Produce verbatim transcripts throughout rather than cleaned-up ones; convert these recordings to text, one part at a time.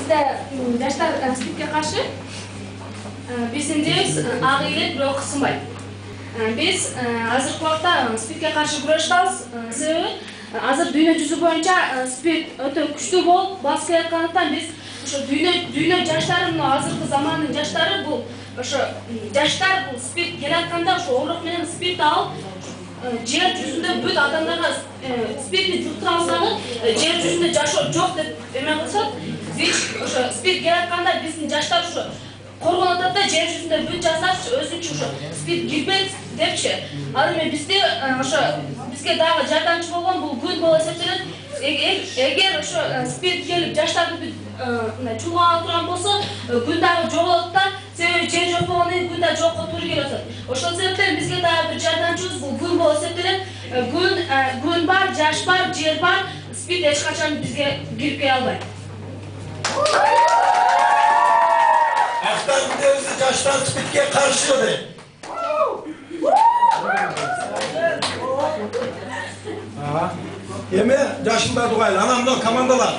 бизде жаштар спидке каршы биздин идеябыз ак ийгилик бирок кысынбайт. Биз азыркы убакта спидке каршы күрөшүп атабыз. Себеби азыр дүйнө жүзү боюнча спид өтө күчтүү болуп басып келаткандыктан биз ошо дүйнө дүйнө жаштары, азыркы замандын жаштары бул ошо жаштар бул спид келатканда ошо оорок менен спид алып жер жүзүндө бүт адамдарга спидти жуктура алсаңыз жер жүзүндө жашоо жок деп эме кылышат. Биз ошо спид келатканда биздин жаштар ошо коргонуп атат да, жер жүзүндө бүт жаштар өзүнчө ошо спид кирбейт депчи. Ал эми бизде ошо бизге дагы жардамчы болгон бул күн болуп эсептелет. Эгер ошо спид келип жаштарды бүт чуулган турган болсо, күн дагы жоголот да, себеби жер жок болгондон кийин күн да жокко туура келип атат. Ошол себептен бизге дагы бир жардамчыбыз бул күн болуп эсептелет. Күн күн бар, жаш бар, жер бар, спид эч качан бизге кирип келе албайт. Ақтар күндеріңізді жаштар спидке қаршы еді. Еме жашында дұғайлы, анамдан командалар.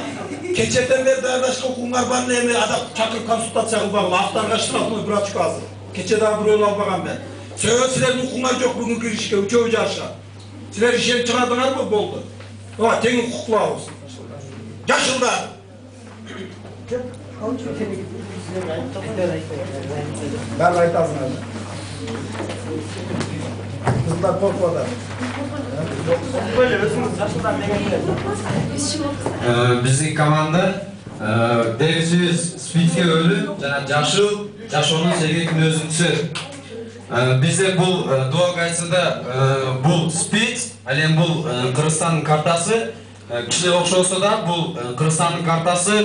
Кечеден бері дайырдашқа оқуңар барны еме адап чакырып консультация қылбағыл. Ақтарға штрафны бір ачқа азыр. Кечедағы бір өл албаған мен. Сөйет сілердің оқуңар жоқ бүгін кірішке, үчеуі жарша. Сілер ішен шығардыңар бұл болды. Оға, теңін құқылауыз. Жашылдар. Бәрі айтасың әлі. Қыздар қорқып атар. Біздің команда дәрежесіз спидке өлі, жана жашыл, жашоонун себебин өзүнчө. Бізде бұл дуа кайсыда бұл спид, әлем бұл Кыргызстандын картасы. Кішілер окшосо да бұл Кыргызстандын картасы.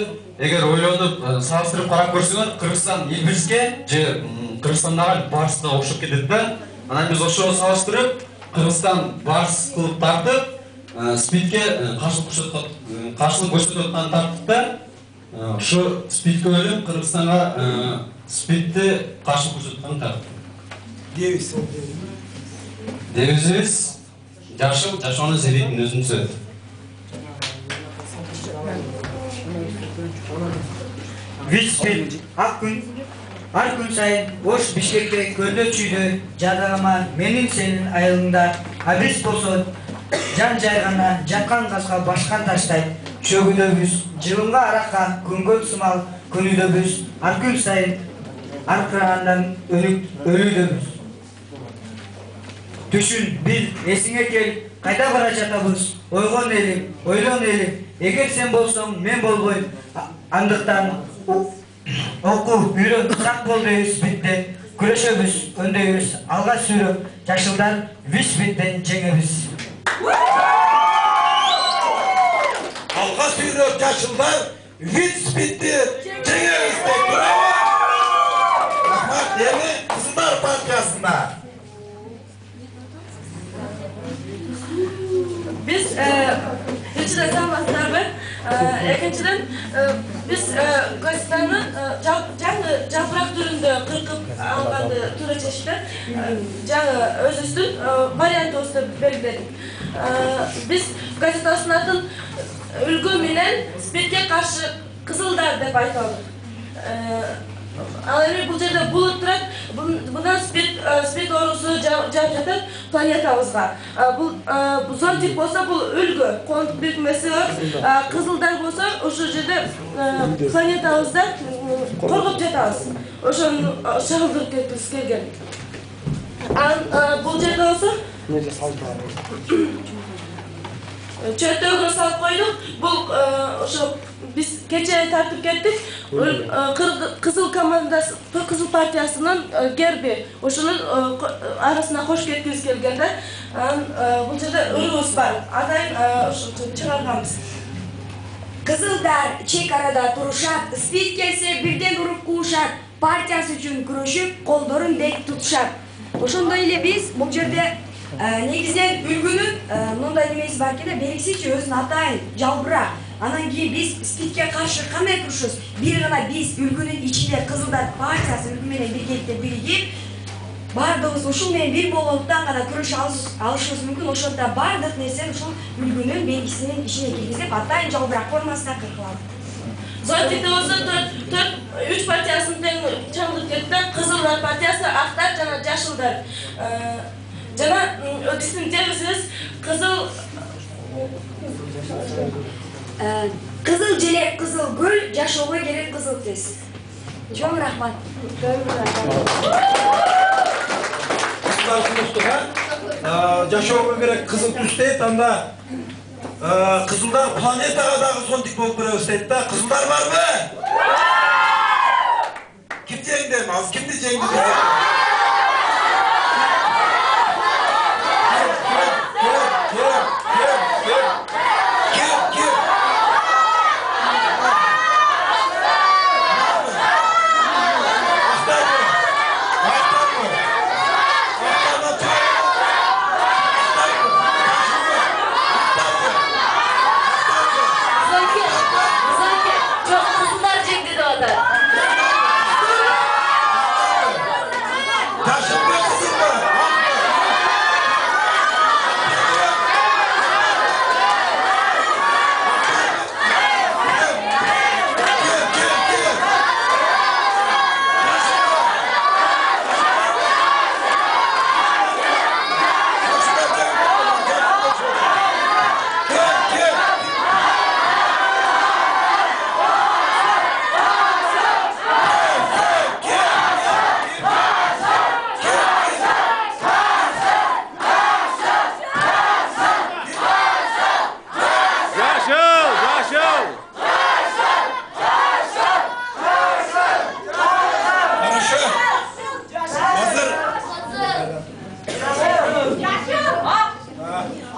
Эгер ойлонуп салыштырып карап көрсөңөр, Кыргызстан Эльбриске же Кыргызстандагы Барсына окшоп кетет да. Анан биз ошого салыштырып, Кыргызстан Барс кылып тартып, спидке каршылык көрсөтүп аткан тарттык да. Ошо спидке өлүп Кыргызстанга спидти каршылык көрсөтүп аткан тарттык. Дебиз. Дебизибиз жашыл, жашоонун себебин өзүнчө. Виспит, ак күн, ар күн сайын Ош Бишкекте көлдө чүйдө жадагама менин сенин айылыңда, а биз болсо жан жайгана жаткан газга башкан таштайт. Чөгүдөбүз, жылымга аракка күнгөн сымал күнүдөбүз, ар күн сайын аркырагандан өлүдөбүз. Түшүн, бил, эсиңе кел, кайда бара жатабыз? Ойгон элим, ойлон элим, эгер сен болсоң мен болбойм. Андыктан окуу, үйрөн, сак бол дейбиз битте, күрөшөбүз, өндөйбүз, алга сүйрөп, жашылдар Виспиттен жеңебиз. Алга сүйрөп жашылдар Виспитти жеңебиз деп браво! Рахмат, эми Кызылдар партиясына. Биз экинчиден саламатсыздарбы? Экинчиден биз Кыргызстанды жаңы жапырак түрүндө кыркып алганды туура чечти. Жаңы өзүбүздүн вариантыбызды белгиледик. Биз газетабыздын атын үлгү менен спидке каршы Кызылдар деп айтабыз. Ал эми бул жерде булут турат, мындан спид оорусу жаап жатат планетабызга. Бул зор тип болсо бул үлгү, коомдук бирикмеси бар. Кызылдар болсо ошол жерде планетабызда коргоп жатабыз. Ошону чагылдырып кеткибиз келген. Бул жерде болсо чөтөгө салып койдук. Бул ошо биз кече тартып кеттик. Кызыл командасы, Кызыл партиясынын герби. Ошонун арасына кош кеткибиз келген да. Бул жерде ырыбыз бар. Атайын ошо чыгарганбыз. Кызылдар чек арада турушат, спид келсе бирден уруп куушат, партиясы үчүн күрөшүп, колдорун бек тутушат. Ошондой эле биз бул жерде негизинен үлгүнүн мындай немеси бар экен да, белгисичи өзүнүн атайын жалбырак. Анан кийин биз спидке каршы кандай турушубуз? Бир гана биз үлгүнүн ичинде Кызылдар партиясы үлгү менен биргеликте биригип, бардыгыбыз ушул менен бир болгондуктан гана күрөшө алышыбыз мүмкүн. Ошондо бардык нерсени ушул үлгүнүн белгисинин ичине киргизип, атайын жалбырак формасында кыркылат. Зойтекте болсо төрт үч партиясын тең чаңдырып кетти. Кызылдар партиясы, Актар жана Жашылдар. Жана биздин девизибиз кызыл Кызыл желек, кызыл гүл, жашоого керек кызыл тез. Чоң рахмат. Жашоого керек кызыл түс дейт, анда кызылдар планетага дагы сонтип болуп көрөбүз дейт да. Кызылдар барбы? Ким жеңди? Азыр кимди жеңди?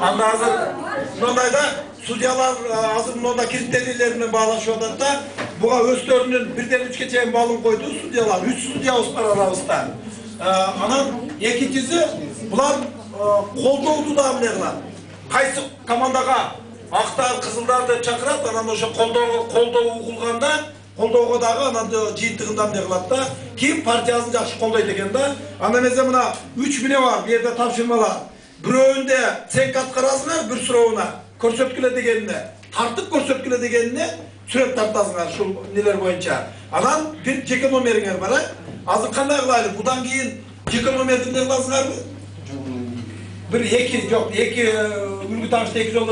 Анда азыр мындайда судьялар азыр мында критерийлер менен баалашып атат да. Буга өздөрүнүн бирден үчкө чейин балын койду судьялар. үч судьябыз бар арабызда. Анан экинчиси булар колдоуду да эмне кылат. Кайсы командага Актар, Кызылдарды чакырат, анан ошо колдоо колдоо угулганда колдоого дагы анан жыйынтыгында эмне кылат да. Ким партиясын жакшы колдойт экен да. Андан эмесе мына үч мине бар, бу жерде тапшырмалар. Бирөөндө ценк аткарасыңар, бир сурооуна көрсөткүлө дегенине, тартып көрсөткүлө дегенине сүрөт тартасыңар ушул нелер боюнча. Анан бир жеке номериңер бар, азыр кандай кылайлы? Будан кийин жеке номерди эмне кыласыңарбы? Бир эки, жок, эки үлгү тагышты эки жолдо